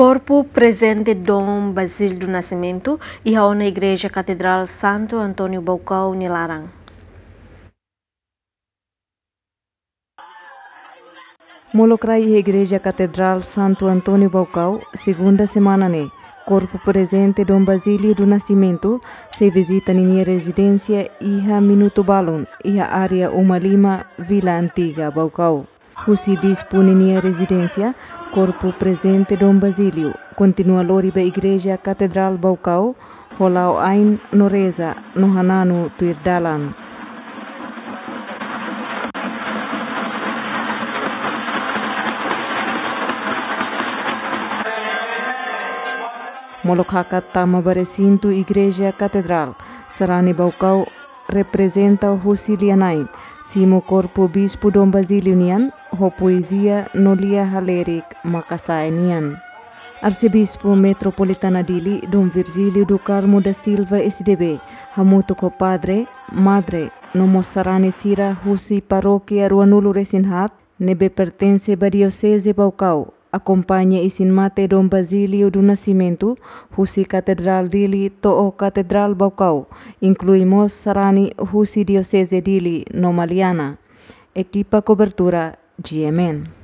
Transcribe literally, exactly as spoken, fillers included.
Korpu prezente Dom Basílio do Nascimento iha ona Igreja Katedrál Santo António Baucau nia laran. Molok rai iha Igreja Katedrál Santo António Baucau, segunda semana ne'e, korpu prezente Dom Basílio do Nascimento sei vizita ninia rezidénsia iha minutu balun, iha área uma lima, Vila Antiga, Baucau. Husi bispu ninia rezidénsia, korpu prezente Dom Basílio kontinua lori ba Igreja Katedrál Baucau, ho la'o ain no reza no hananu tuir dalan. Molok hakat tama ba resintu Igreja Katedrál, sarani Baucau reprezenta husi lia-na'in, simu korpu bispu Dom Basílio nian, ho poezia no lia halerik maka sa'e nian. Arsebispu Metropolitana Dili, Dom Virgílio do Carmo da Silva, S D B, hamutuk ho padre, madre, no mós sarani sira husi parókia ruanulu resin haat, ne'ebé pertense ba Dioseze Baucau, akompaña isin-mate Dom Basílio do Nascimento, husi Katedrál Dili to'o Katedrál Baucau, inklui mós sarani husi Dioseze Dili no Maliana. Ekipa kobertura, G M N.